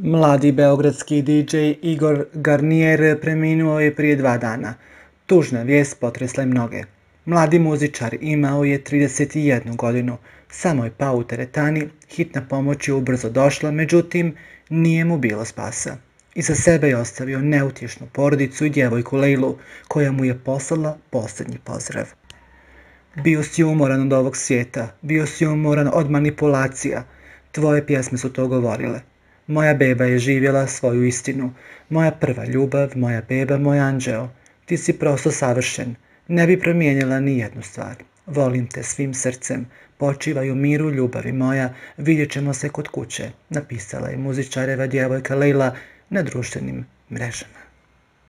Mladi beogradski DJ Igor Garnier preminuo je prije 2 dana. Tužna vijest potresla je mnoge. Mladi muzičar imao je 31 godinu, samo je pao u teretani, hitna pomoć je ubrzo došla, međutim, nije mu bilo spasa. Iza sebe je ostavio neutješnu porodicu i djevojku Lejlu, koja mu je poslala posljednji pozdrav. Bio si umoran od ovog svijeta, bio si umoran od manipulacija. Tvoje pjesme su to govorile. Moja beba je živjela svoju istinu. Moja prva ljubav, moja beba, moj anđeo. Ti si prosto savršen. Ne bi promijenila ni jednu stvar. Volim te svim srcem. Počivaj u miru, ljubavi moja. Vidjet ćemo se kod kuće, napisala je muzičareva djevojka Lejla na društvenim mrežama.